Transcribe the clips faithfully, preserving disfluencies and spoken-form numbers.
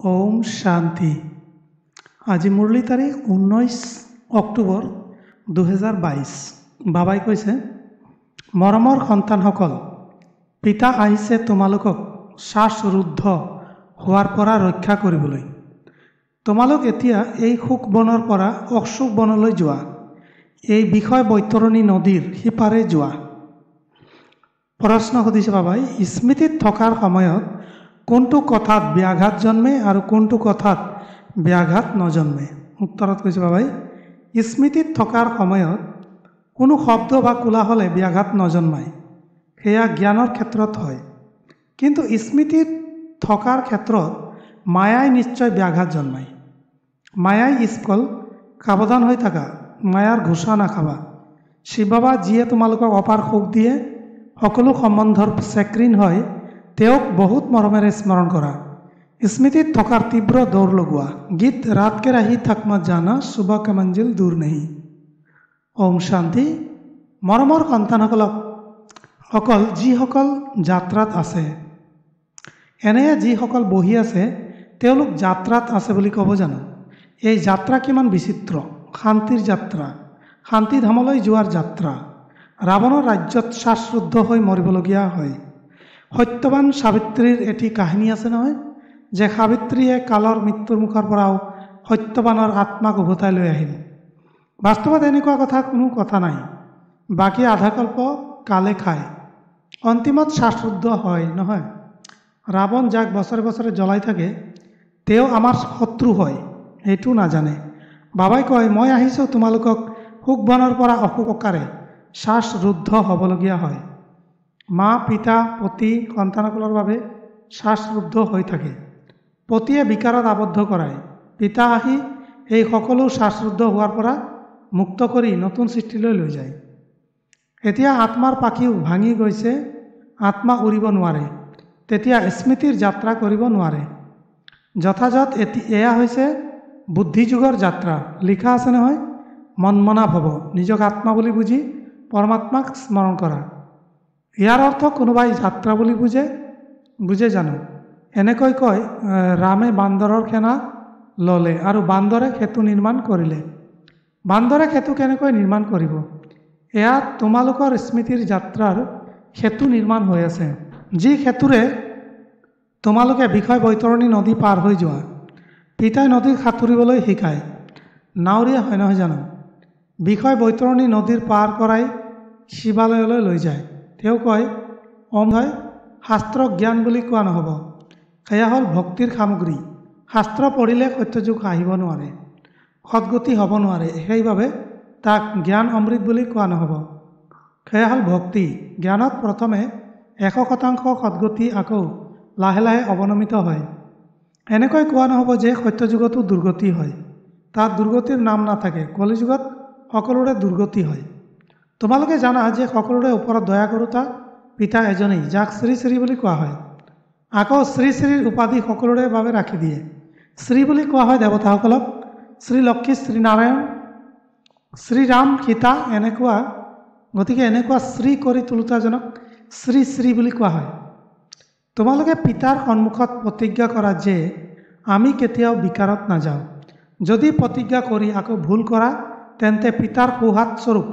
ওম শান্তি। আজি মুৰলী তাৰিখ ঊনৈছ অক্টোবৰ দুহেজাৰ বাইছ। বাবাই কৈছে, মৰমৰ সন্তানসকল, পিতা আহিছে তোমালোকক শ্বাসৰুদ্ধ হোৱাৰ পৰা ৰক্ষা কৰিবলৈ। তোমালোক এতিয়া এই সুখ বনৰ পৰা অসুখ বনলৈ যোৱা, এই বিষয় বৈতৰণী নদীৰ সিপাৰে যোৱা। প্ৰশ্ন সুধিছে বাবাই, স্মৃতিত থকাৰ সময়ত কোনটো কথাত ব্যাঘাত জন্মে আৰু কোনটো কথাত ব্যাঘাত নজন্মে? উত্তৰত কৈছে বাবাই, স্মৃতিত থকাৰ সময়ত কোনো শব্দ বা কোলাহলে ব্যাঘাত নজন্মায়, সেয়া জ্ঞানৰ ক্ষেত্ৰত হয়। কিন্তু স্মৃতিত থকাৰ ক্ষেত্ৰত মায়াই নিশ্চয় ব্যাঘাত জন্মায়। মায়াই স্কল সাৱধান হৈ থাকা, মায়াৰ ঘোষা নাখাবা। শিৱ বাবা যিয়ে তোমালোকক অপাৰ সুখ দিয়ে, সকলো সম্বন্ধৰ চেক্ৰিন হয়, তেওঁক বহুত মৰমেৰে স্মৰণ কৰা। স্মৃতিত থকাৰ তীব্ৰ দৌৰ লগোৱা। গীত ৰাত কে ৰাহি থাকমা জানা, সুবা কা মঞ্জিল দূৰ নেহি। ওম শান্তি। মৰমৰ সন্তানসকলক সকল যিসকল যাত্ৰাত আছে, এনে যিসকল বহি আছে তেওঁলোক যাত্ৰাত আছে বুলি ক'ব জানো? এই যাত্ৰা কিমান বিচিত্ৰ! শান্তিৰ যাত্ৰা, শান্তিধামলৈ যোৱাৰ যাত্ৰা। ৰাৱণৰ ৰাজ্যত শ্বাসৰুদ্ধ হৈ মৰিবলগীয়া হয়। সত্যবান সাবিত্ৰীৰ এটি কাহিনী আছে নহয়, যে সাবিত্ৰীয়ে কালৰ মৃত্যুৰ মুখৰ পৰাও সত্যবানৰ আত্মাক উভতাই লৈ আহিল। বাস্তৱত এনেকুৱা কথা কোনো কথা নাই। বাকী আধাকল্প কালে খায়, অন্তিমত শ্বাসৰুদ্ধ হয় নহয়। ৰাৱণ যাক বছৰে বছৰে জ্বলাই থাকে, তেওঁ আমাৰ শত্ৰু হয়, সেইটো নাজানে। বাবাই কয়, মই আহিছোঁ তোমালোকক সুখ বনৰ পৰা অসুখকাৰে শ্বাসৰুদ্ধ হ'বলগীয়া হয়। মা, পিতা, পতি সন্তানসকলৰ বাবে শ্বাসৰুদ্ধ হৈ থাকে। পতিয়ে বিকাৰত আবদ্ধ কৰায়। পিতা আহি এই সকলো শ্বাসৰুদ্ধ হোৱাৰ পৰা মুক্ত কৰি নতুন সৃষ্টিলৈ লৈ যায়। এতিয়া আত্মাৰ পাখিও ভাঙি গৈছে, আত্মা উৰিব নোৱাৰে, তেতিয়া স্মৃতিৰ যাত্ৰা কৰিব নোৱাৰে। যথাযথ এতি এয়া হৈছে বুদ্ধিযুগৰ যাত্ৰা। লিখা আছে নহয়, মনমনা ভৱ, নিজক আত্মা বুলি বুজি পৰমাত্মাক স্মৰণ কৰা। ইয়াৰ অৰ্থ কোনোবাই যাত্ৰা বুলি বুজে বুজে জানো? এনেকৈ কয়, ৰামে বান্দৰৰ সেনা ল'লে আৰু বান্দৰে সেতু নিৰ্মাণ কৰিলে। বান্দৰে সেতু কেনেকৈ নিৰ্মাণ কৰিব? এয়া তোমালোকৰ স্মৃতিৰ যাত্ৰাৰ সেতু নিৰ্মাণ হৈ আছে, যি সেতুৰে তোমালোকে বিষয় বৈতৰণী নদী পাৰ হৈ যোৱা। পিতাই নদীক সাঁতুৰিবলৈ শিকায়, নাৱৰীয়া হয় নহয় জানো? বিষয় বৈতৰণী নদীৰ পাৰ কৰাই শিৱালয়লৈ লৈ যায়। তেওঁ কয়, ওম হয় শাস্ত্ৰ জ্ঞান বুলি কোৱা নহ'ব, সেয়া হ'ল ভক্তিৰ সামগ্ৰী। শাস্ত্ৰ পঢ়িলে সত্যযুগ আহিব নোৱাৰে, সদ্গতি হ'ব নোৱাৰে, সেইবাবে তাক জ্ঞান অমৃত বুলি কোৱা নহ'ব। সেয়া হ'ল ভক্তি। জ্ঞানত প্ৰথমে এশ শতাংশ সদ্গতি, আকৌ লাহে লাহে অৱনমিত হয়। এনেকৈ কোৱা নহ'ব যে সত্যযুগতো দুৰ্গতি হয়, তাত দুৰ্গতিৰ নাম নাথাকে। কলিযুগত সকলোৰে দুৰ্গতি হয়। তোমালোকে জানা যে সকলোৰে ওপৰত দয়া কৰোঁতা পিতা এজনেই, যাক শ্ৰী শ্ৰী বুলি কোৱা হয়। আকৌ শ্ৰী শ্ৰীৰ উপাধি সকলোৰে বাবে ৰাখি দিয়ে। শ্ৰী বুলি কোৱা হয় দেৱতাসকলক, শ্ৰী লক্ষ্মী, শ্ৰীনাৰায়ণ, শ্ৰীৰাম, সীতা, এনেকুৱা। গতিকে এনেকুৱা শ্ৰী কৰি তোলোতাজনক শ্ৰী শ্ৰী বুলি কোৱা হয়। তোমালোকে পিতাৰ সন্মুখত প্ৰতিজ্ঞা কৰা যে আমি কেতিয়াও বিকাৰত নাযাওঁ। যদি প্ৰতিজ্ঞা কৰি আকৌ ভুল কৰা, তেন্তে পিতাৰ সোঁহাত স্বৰূপ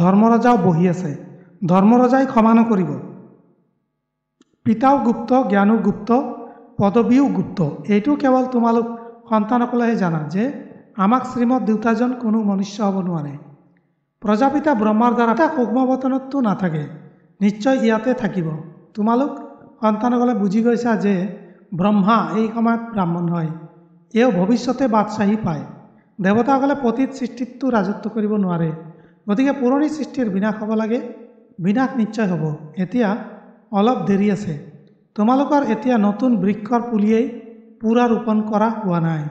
ধৰ্মৰজাও বহি আছে, ধৰ্মৰজাই ক্ষমা নকৰিব। পিতাও গুপ্ত, জ্ঞানো গুপ্ত, পদবীও গুপ্ত। এইটো কেৱল তোমালোক সন্তানসকলেহে জানা যে আমাক শ্ৰীমৎ দেউতাজন কোনো মনুষ্য হ'ব নোৱাৰে। প্ৰজাপিতা ব্ৰহ্মাৰ দ্বাৰা সূক্ষ্মবতনততো নাথাকে, নিশ্চয় ইয়াতে থাকিব। তোমালোক সন্তানসকলে বুজি গৈছা যে ব্ৰহ্মা এই সময়ত ব্ৰাহ্মণ হয়, এওঁ ভৱিষ্যতে বাদশ্বাহী পায়। দেৱতাসকলে পতিত সৃষ্টিততো ৰাজত্ব কৰিব নোৱাৰে, গতিকে পুৰণি সৃষ্টিৰ বিনাশ হ'ব লাগে। বিনাশ নিশ্চয় হ'ব, এতিয়া অলপ দেৰি আছে। তোমালোকৰ এতিয়া নতুন বৃক্ষৰ পুলিয়েই পূৰা ৰোপণ কৰা হোৱা নাই।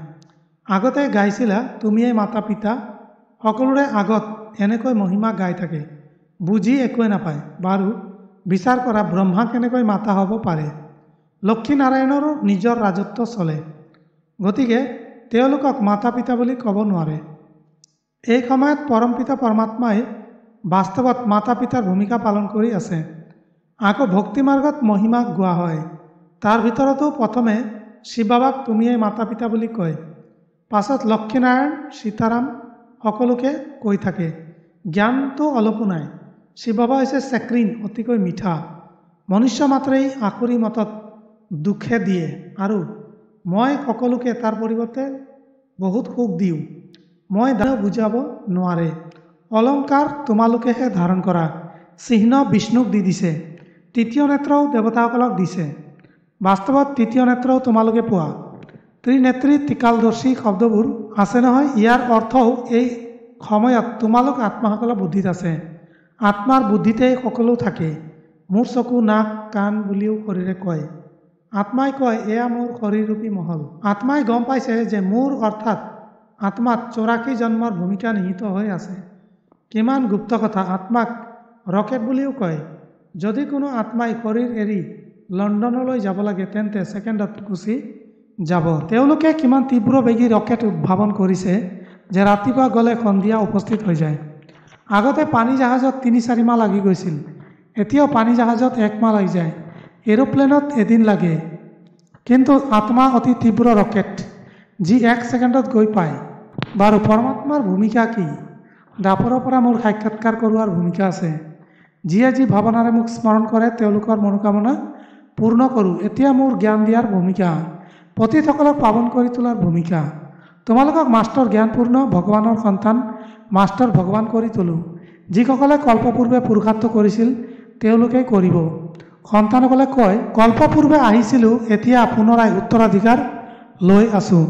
আগতে গাইছিলা, তুমিয়েই মাতা পিতা, সকলোৰে আগত এনেকৈ মহিমা গাই থাকে, বুজি একোৱে নাপায়। বাৰু বিচাৰ কৰা, ব্ৰহ্মা কেনেকৈ মাতা হ'ব পাৰে? লক্ষ্মীনাৰায়ণৰো নিজৰ ৰাজত্ব চলে, গতিকে তেওঁলোকক মাতা পিতা বুলি ক'ব নোৱাৰে। এই সময়ত পৰমপিতা পৰমাত্মাই বাস্তৱত মাতা পিতাৰ ভূমিকা পালন কৰি আছে। আকৌ ভক্তি মাৰ্গত মহিমা গোৱা হয়, তাৰ ভিতৰতো প্ৰথমে শিৱ বাবাক তুমিয়েই মাতা পিতা বুলি কয়। পাছত লক্ষ্মীনাৰায়ণ, সীতাৰাম সকলোকে কৈ থাকে। জ্ঞানতো অলপো নাই। শিৱ বাবা হৈছে চেক্ৰিন, অতিকৈ মিঠা। মনুষ্য মাত্ৰেই আসুৰি মতত দুখে দিয়ে আৰু মই সকলোকে তাৰ পৰিৱৰ্তে বহুত সুখ দিওঁ। মই বুজাব নোৱাৰে। অলংকাৰ তোমালোকেহে ধাৰণ কৰা। চিহ্ন বিষ্ণুক দি দিছে। তৃতীয় নেত্ৰও দেৱতাসকলক দিছে। বাস্তৱত তৃতীয় নেত্ৰও তোমালোকে পোৱা। ত্ৰিনেত্ৰী, ত্ৰিকালদৰ্শী শব্দবোৰ আছে নহয়, ইয়াৰ অৰ্থও এই সময়ত তোমালোক আত্মাসকলৰ বুদ্ধিত আছে। আত্মাৰ বুদ্ধিতেই সকলো থাকে। মোৰ চকু, নাক, কাণ বুলিও শৰীৰে কয়। আত্মাই কয়, এয়া মোৰ শৰীৰৰূপী মহল। আত্মাই গম পাইছে যে মোৰ অৰ্থাৎ আত্মাত চৌৰাশী জন্মৰ ভূমিকা নিহিত হৈ আছে। কিমান গুপ্ত কথা! আত্মাক ৰকেট বুলিও কয়। যদি কোনো আত্মাই শৰীৰ এৰি লণ্ডনলৈ যাব লাগে, তেন্তে ছেকেণ্ডত গুচি যাব। তেওঁলোকে কিমান তীব্ৰ বেগী ৰকেট উদ্ভাৱন কৰিছে যে ৰাতিপুৱা গ'লে সন্ধিয়া উপস্থিত হৈ যায়। আগতে পানী জাহাজত তিনি চাৰি মাহ লাগি গৈছিল, এতিয়াও পানী জাহাজত এক মাহ লাগি যায়। এৰোপ্লেনত এদিন লাগে। কিন্তু আত্মা অতি তীব্ৰ ৰকেট, যি এক ছেকেণ্ডত গৈ পায়। বাৰু, পৰমাত্মাৰ ভূমিকা কি? দ্বাপৰৰ পৰা মোৰ সাক্ষাৎকাৰ কৰোৱাৰ ভূমিকা আছে। যিয়ে যি ভাৱনাৰে মোক স্মৰণ কৰে, তেওঁলোকৰ মনোকামনা পূৰ্ণ কৰোঁ। এতিয়া মোৰ জ্ঞান দিয়াৰ ভূমিকা, পতিতসকলক পাৱন কৰি তোলাৰ ভূমিকা। তোমালোকক মাষ্টৰ জ্ঞানপূৰ্ণ ভগৱানৰ সন্তান মাষ্টৰ ভগৱান কৰি তোলোঁ। যিসকলে কল্পপূৰ্বে পুৰুষাৰ্থ কৰিছিল, তেওঁলোকেই কৰিব। সন্তানসকলে কয়, কল্পপূৰ্বে আহিছিলোঁ, এতিয়া পুনৰাই উত্তৰাধিকাৰ লৈ আছোঁ।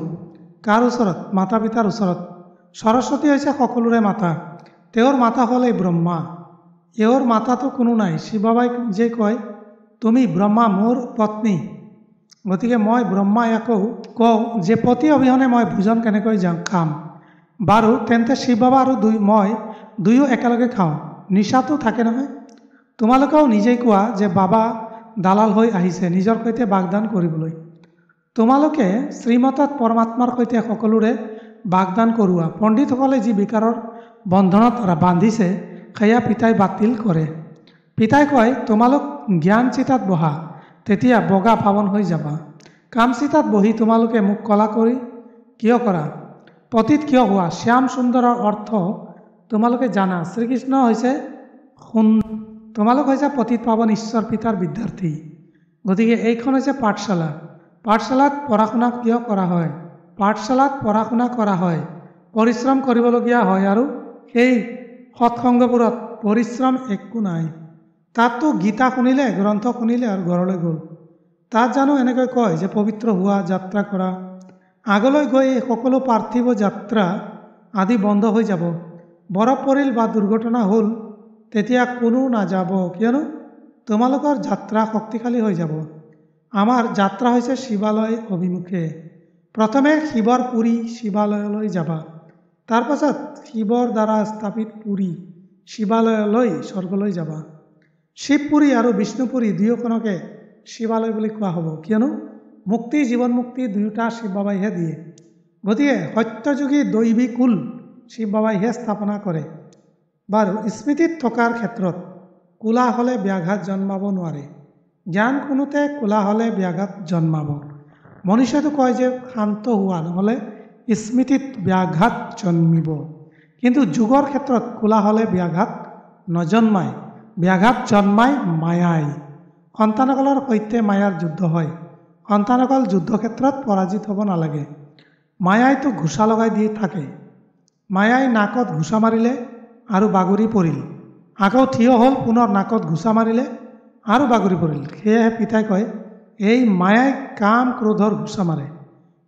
কাৰ ওচৰত? মাতা পিতাৰ ওচৰত। সৰস্বতী হৈছে সকলোৰে মাতা। তেওঁৰ মাতা হ'ল এই ব্ৰহ্মা। এওঁৰ মাতাতো কোনো নাই। শিৱবাবাই যে কয়, তুমি ব্ৰহ্মা মোৰ পত্নী, গতিকে মই ব্ৰহ্মাই আকৌ কওঁ যে পতি অবিহনে মই ভোজন কেনেকৈ যাওঁ খাম? বাৰু, তেন্তে শিৱবাবা আৰু দুই মই দুয়ো একেলগে খাওঁ। নিচাটো থাকে নহয়। তোমালোকেও নিজেই কোৱা যে বাবা দালাল হৈ আহিছে নিজৰ সৈতে বাগদান কৰিবলৈ। তোমালোকে শ্ৰীমতত পৰমাত্মাৰ সৈতে সকলোৰে বাগদান কৰোৱা। পণ্ডিতসকলে যি বিকাৰৰ বন্ধনত বান্ধিছে, সেয়া পিতাই বাতিল কৰে। পিতাই কয়, তোমালোক জ্ঞান চিতাত বহা, তেতিয়া বগা পাৱন হৈ যাবা। কাম চিতাত বহি তোমালোকে মোক কলা কৰি কিয় কৰা? পতিত কিয় হোৱা? শ্যাম সুন্দৰৰ অৰ্থ তোমালোকে জানা। শ্ৰীকৃষ্ণ হৈছে সুন্দৰ, তোমালোক হৈছে পতিত পাৱন ঈশ্বৰ পিতাৰ বিদ্যাৰ্থী। গতিকে এইখন হৈছে পাঠশালা। পাঠশালাত পঢ়া শুনা কিয় কৰা হয়? পাঠশালাত পঢ়া শুনা কৰা হয়, পৰিশ্ৰম কৰিবলগীয়া হয়, আৰু সেই সৎসংগবোৰত পৰিশ্ৰম একো নাই। তাততো গীতা শুনিলে, গ্ৰন্থ শুনিলে আৰু ঘৰলৈ গ'ল। তাত জানো এনেকৈ কয় যে পবিত্ৰ হোৱা, যাত্ৰা কৰা? আগলৈ গৈ এই সকলো পাৰ্থিৱ যাত্ৰা আদি বন্ধ হৈ যাব। বৰফ পৰিল বা দুৰ্ঘটনা হ'ল, তেতিয়া কোনো নাযাব, কিয়নো তোমালোকৰ যাত্ৰা শক্তিশালী হৈ যাব। আমাৰ যাত্ৰা হৈছে শিৱালয় অভিমুখে। প্ৰথমে শিৱৰ পুৰী শিৱালয়লৈ যাবা, তাৰপাছত শিৱৰ দ্বাৰা স্থাপিত পুৰী শিৱালয়লৈ, স্বৰ্গলৈ যাবা। শিৱপুৰী আৰু বিষ্ণুপুৰী দুয়োখনকে শিৱালয় বুলি কোৱা হ'ব, কিয়নো মুক্তি, জীৱন মুক্তি দুয়োটা শিৱ বাবাইহে দিয়ে। গতিকে সত্যযুগী দৈৱী কুল শিৱ বাবাইহে স্থাপনা কৰে। বাৰু, স্মৃতিত থকাৰ ক্ষেত্ৰত কোলাহলে ব্যাঘাত জন্মাব নোৱাৰে। জ্ঞান শুনোতে কোলাহলে ব্যাঘাত জন্মাব। মনুষ্যটো কয় যে শান্ত হোৱা, নহ'লে স্মৃতিত ব্যাঘাত জন্মিব। কিন্তু যোগৰ ক্ষেত্ৰত কোলাহলে ব্যাঘাত নজন্মায়, ব্যাঘাত জন্মায় মায়াই। সন্তানসকলৰ সৈতে মায়াৰ যুদ্ধ হয়। সন্তানসকল যুদ্ধক্ষেত্ৰত পৰাজিত হ'ব নালাগে। মায়াইতো ঘোচা লগাই দি থাকে। মায়াই নাকত ঘোচা মাৰিলে আৰু বাগৰি পৰিল, আকৌ থিয় হ'ল, পুনৰ নাকত ঘোচা মাৰিলে আৰু বাগৰি পৰিল। সেয়েহে পিতাই কয়, এই মায়াই কাম ক্ৰোধৰ ঘোচা মাৰে।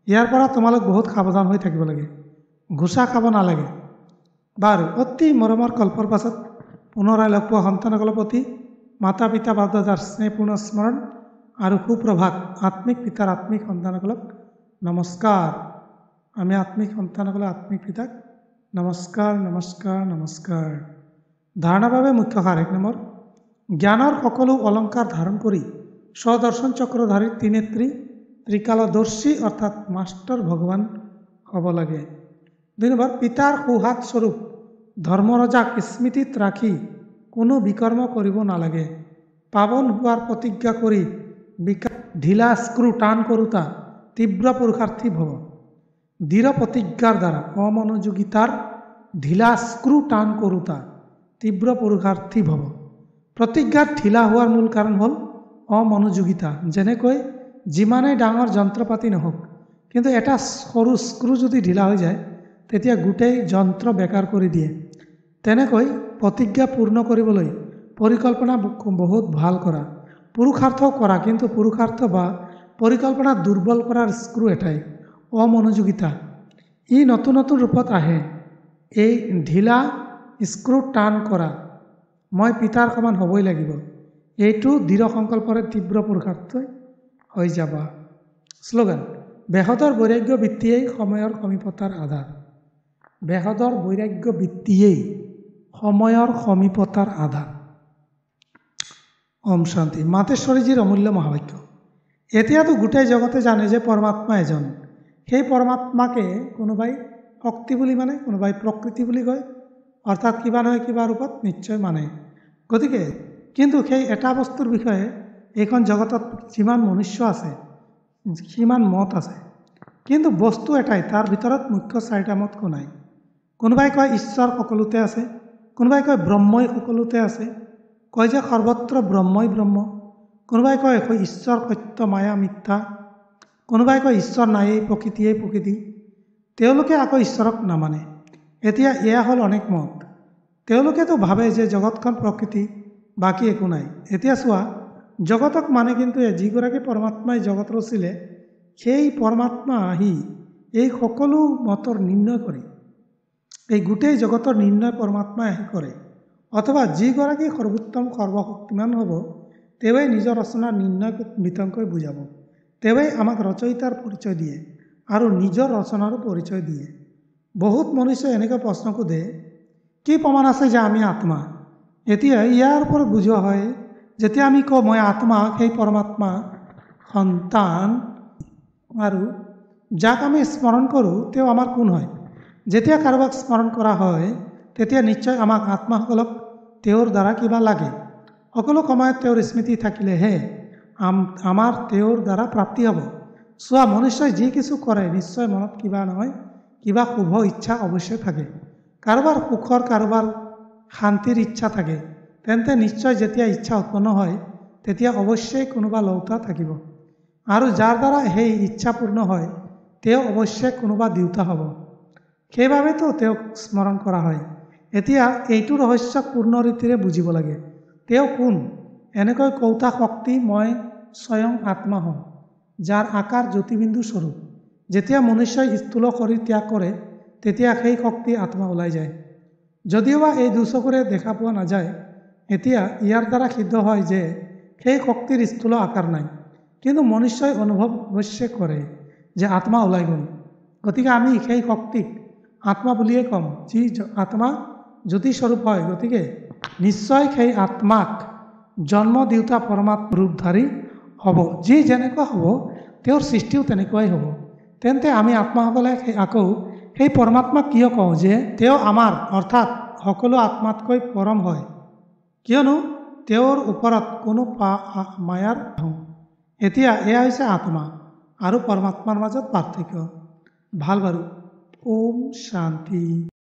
ইয়াৰ পৰা তোমালোক বহুত সাৱধান হৈ থাকিব লাগে, ঘোচা খাব নালাগে। বাৰু, অতি মৰমৰ কল্পৰ পাছত পুনৰাই লগ পোৱা সন্তানসকলৰ প্ৰতি মাতা পিতা বাপদাদাৰ স্নেহপূৰ্ণ স্মৰণ আৰু সুপ্ৰভাত। আত্মিক পিতাৰ আত্মিক সন্তানসকলক নমস্কাৰ। আমি আত্মিক সন্তানসকলে আত্মিক পিতাক নমস্কাৰ, নমস্কাৰ, নমস্কাৰ। ধাৰণাৰ বাবে মুখ্য সাৰ এক নম্বৰ, জ্ঞানৰ সকলো অলংকাৰ ধাৰণ কৰি স্বদৰ্শন চক্ৰধাৰী ত্ৰিনেত্ৰী ত্ৰিকালদৰ্শী অৰ্থাৎ মাষ্টৰ ভগৱান হ'ব লাগে। দুই নম্বৰ, পিতাৰ সোঁহাত স্বৰূপ ধৰ্মৰজাক স্মৃতিত ৰাখি কোনো বিকৰ্ম কৰিব নালাগে। পাৱন হোৱাৰ প্ৰতিজ্ঞা কৰি বিকা ঢিলা স্ক্ৰু টান কৰোঁতা তীব্ৰ পুৰুষাৰ্থী ভৱ। দৃঢ় প্ৰতিজ্ঞাৰ দ্বাৰা অমনোযোগিতাৰ ঢিলা স্ক্ৰু টান কৰোঁতা তীব্ৰ পুৰুষাৰ্থী ভৱ। প্ৰতিজ্ঞাত ঢিলা হোৱাৰ মূল কাৰণ হ'ল অমনোযোগিতা। যেনেকৈ যিমানেই ডাঙৰ যন্ত্ৰপাতি নহওক, কিন্তু এটা সৰু স্ক্ৰু যদি ঢিলা হৈ যায় তেতিয়া গোটেই যন্ত্ৰ বেকাৰ কৰি দিয়ে। তেনেকৈ প্ৰতিজ্ঞা পূৰ্ণ কৰিবলৈ পৰিকল্পনা বহুত ভাল কৰা, পুৰুষাৰ্থও কৰা, কিন্তু পুৰুষাৰ্থ বা পৰিকল্পনা দুৰ্বল কৰাৰ স্ক্ৰু এটাই অমনোযোগিতা। ই নতুন নতুন ৰূপত আহে। এই ঢিলা স্ক্ৰু টান কৰা, মই পিতাৰ সমান হ'বই লাগিব, এইটো দৃঢ় সংকল্পৰে তীব্ৰ পুৰুষাৰ্থ হৈ যাবা। শ্লোগান: বেহদৰ বৈৰাগ্য বৃত্তিয়েই সময়ৰ সমীপতাৰ আধাৰ। বেহদৰ বৈৰাগ্য বৃত্তিয়েই সময়ৰ সমীপতাৰ আধাৰ। ওম শান্তি। মাতেশ্বৰীজীৰ অমূল্য মহাবাক্য। এতিয়াতো গোটেই জগতে জানে যে পৰমাত্মা এজন। সেই পৰমাত্মাকে কোনোবাই শক্তি বুলি মানে, কোনোবাই প্ৰকৃতি বুলি কয়, অৰ্থাৎ কিবা নহয় কিবা ৰূপত নিশ্চয় মানে। গতিকে কিন্তু সেই এটা বস্তুৰ বিষয়ে এইখন জগতত যিমান মনুষ্য আছে সিমান মত আছে, কিন্তু বস্তু এটাই, তাৰ ভিতৰত মুখ্য চাৰিটা মত নাই। কোনোবাই কয় ঈশ্বৰ সকলোতে আছে, কোনোবাই কয় ব্ৰহ্মই সকলোতে আছে, কয় যে সৰ্বত্ৰ ব্ৰহ্মই ব্ৰহ্ম, কোনোবাই কয় ঈশ্বৰ সত্য মায়া মিথ্যা, কোনোবাই কয় ঈশ্বৰ নায়েই প্ৰকৃতিয়েই প্ৰকৃতি। তেওঁলোকে আকৌ ঈশ্বৰক নামানে। এতিয়া এয়া হ'ল অনেক মত। তেওঁলোকেতো ভাবে যে জগতখন প্ৰকৃতি, বাকী একো নাই। এতিয়া চোৱা, জগতক মানে কিন্তু যিগৰাকী পৰমাত্মাই জগত ৰচিলে, সেই পৰমাত্মা আহি এই সকলো মতৰ নিৰ্ণয় কৰে। এই গোটেই জগতৰ নিৰ্ণয় পৰমাত্মাই আহি কৰে। অথবা যিগৰাকী সৰ্বোত্তম সৰ্বশক্তিমান হ'ব, তেওঁৱেই নিজৰ ৰচনাৰ নিৰ্ণয় বিতংকৈ বুজাব। তেওঁৱেই আমাক ৰচয়িতাৰ পৰিচয় দিয়ে আৰু নিজৰ ৰচনাৰো পৰিচয় দিয়ে। বহুত মনুষ্যই এনেকৈ প্ৰশ্ন সোধে, কি প্ৰমাণ আছে যে আমি আত্মা? এতিয়া ইয়াৰ ওপৰত বুজোৱা হয়, যেতিয়া আমি কওঁ মই আত্মা, সেই পৰমাত্মা সন্তান আৰু যাক আমি স্মৰণ কৰোঁ তেওঁ আমাৰ কোন হয়? যেতিয়া কাৰোবাক স্মৰণ কৰা হয় তেতিয়া নিশ্চয় আমাক আত্মাসকলক তেওঁৰ দ্বাৰা কিবা লাগে। সকলো সময়ত তেওঁৰ স্মৃতি থাকিলেহে আমাৰ তেওঁৰ দ্বাৰা প্ৰাপ্তি হ'ব। চোৱা, মনুষ্যই যি কিছু কৰে নিশ্চয় মনত কিবা নহয় কিবা শুভ ইচ্ছা অৱশ্যে থাকে। কাৰোবাৰ সুখৰ, কাৰোবাৰ শান্তিৰ ইচ্ছা থাকে। তেন্তে নিশ্চয় যেতিয়া ইচ্ছা উৎপন্ন হয় তেতিয়া অৱশ্যেই কোনোবা লওঁতা থাকিব, আৰু যাৰ দ্বাৰা সেই ইচ্ছা পূৰ্ণ হয় তেওঁ অৱশ্যে কোনোবা দিওঁতা হ'ব। সেইবাবেতো তেওঁক স্মৰণ কৰা হয়। এতিয়া এইটো ৰহস্যক পূৰ্ণ ৰীতিৰে বুজিব লাগে। তেওঁ কোন? এনেকৈ কওঁতা শক্তি মই স্বয়ং আত্মা হওঁ, যাৰ আকাৰ জ্যোতিবিন্দু স্বৰূপ। যেতিয়া মনুষ্যই স্থূল শৰীৰ ত্যাগ কৰে তেতিয়া সেই শক্তি আত্মা ওলাই যায়। যদিওবা এই দুচকুৰে দেখা পোৱা নাযায়, এতিয়া ইয়াৰ দ্বাৰা সিদ্ধ হয় যে সেই শক্তিৰ স্থূল আকাৰ নাই, কিন্তু মনুষ্যই অনুভৱ অৱশ্যে কৰে যে আত্মা ওলাই গ'ল। গতিকে আমি সেই শক্তিক আত্মা বুলিয়ে ক'ম, যি আত্মা জ্যোতিস্বৰূপ হয়। গতিকে নিশ্চয় সেই আত্মাক জন্ম দিওঁতা পৰমাত্ম ৰূপধাৰী হ'ব। যি যেনেকুৱা হ'ব তেওঁৰ সৃষ্টিও তেনেকুৱাই হ'ব। তেন্তে আমি আত্মাসকলে আকৌ সেই পৰমাত্মাক কিয় কওঁ যে তেওঁ আমাৰ, অৰ্থাৎ সকলো আত্মাতকৈ পৰম হয়? কিয়নো তেওঁৰ ওপৰত কোনো পা মায়াৰ। এতিয়া এয়া হৈছে আত্মা আৰু পৰমাত্মাৰ মাজত পাৰ্থক্য। ভাল বাৰু, ওম শান্তি।